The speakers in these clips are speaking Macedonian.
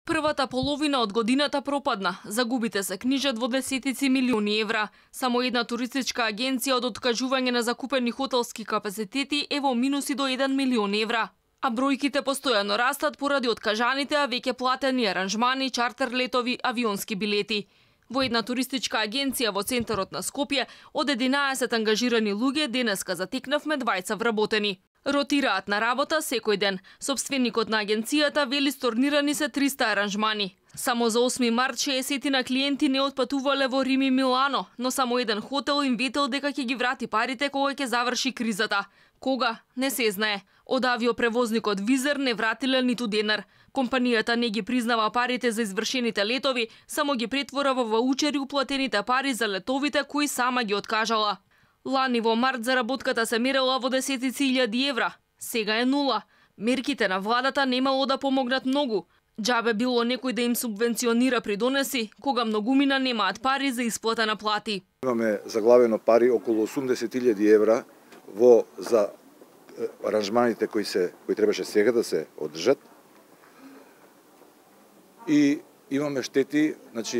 Првата половина од годината пропадна. Загубите се книжат во десетици милиони евра. Само една туристичка агенција од откажување на закупени хотелски капацитети е во минуси до 1 милион евра. А бројките постојано растат поради откажаните, а веќе платени аранжмани, чартер летови, авионски билети. Во една туристичка агенција во центарот на Скопје од 11 ангажирани луѓе денеска затекнавме 20 вработени. Ротираат на работа секој ден. Собственикот на агенцијата вели сторнирани се 300 аранжмани. Само за 8 март 60 на клиенти не отпатувале во Рим и Милано, но само еден хотел им ветел дека ќе ги врати парите кога ќе заврши кризата. Кога? Не се знае. Од авиопревозникот Визер не вратиле ниту денар. Компанијата не ги признава парите за извршените летови, само ги претвора во ваучери уплатените пари за летовите кои сама ги откажала. Лани во март заработката се мерела во десетици илјади евра. Сега е нула. Мерките на владата немало да помогнат многу. Џабе било некој да им субвенционира придонеси, кога многумина немаат пари за исплата на плати. Имаме заглавено пари околу 80.000 евра за аранжманите кои требаше сега да се одржат. И имаме штети,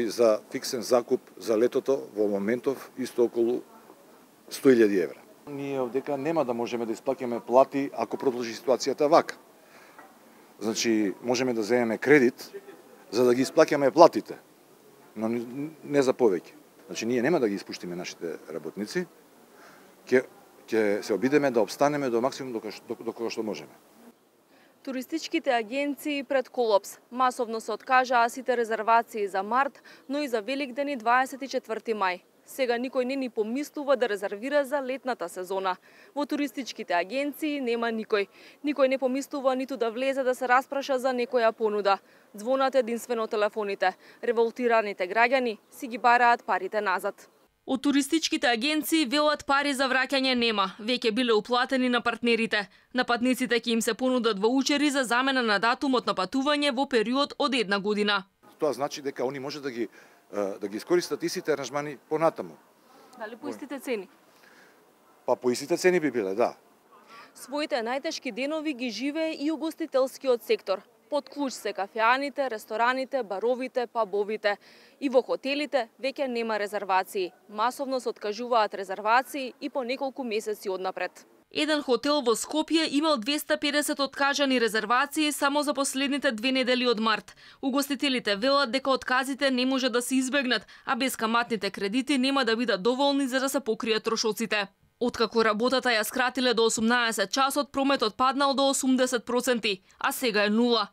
за фиксен закуп за летото во моментов исто околу 100.000 евра. Ние овдека нема да можеме да исплаќаме плати ако продолжи ситуацијата вака. Можеме да земеме кредит за да ги исплаќаме платите, но не за повеќе. Ние нема да ги испуштиме нашите работници, ќе се обидеме да обстанеме до максимум до кога што можеме. Туристичките агенции пред колапс. Масовно се откажаа сите резервации за март, но и за Великден и 24 мај. Сега никој не ни помислува да резервира за летната сезона. Во туристичките агенции нема никој. Никој не помислува ниту да влезе да се распраша за некоја понуда. Звонат единствено телефоните. Револтираните граѓани си ги бараат парите назад. Од туристичките агенции велат пари за враќање нема. Веќе биле уплатени на партнерите. На патниците ќе им се понудат ваучери за замена на датумот на патување во период од 1 година. Тоа значи дека они може да ги искористат истите аранжмани понатаму. Дали по истите цени? Па по истите цени би биле, да. Своите најтешки денови ги живее и угостителскиот сектор. Под клуч се кафеаните, рестораните, баровите, пабовите. И во хотелите веќе нема резервации. Масовно се откажуваат резервации и по неколку месеци однапред. Еден хотел во Скопје имал 250 откажани резервации само за последните 2 недели од март. Угостителите велат дека отказите не може да се избегнат, а безкаматните кредити нема да бидат доволни за да се покријат трошоците. Откако работата ја скратиле до 18 часот, прометот паднал до 80%, а сега е нула.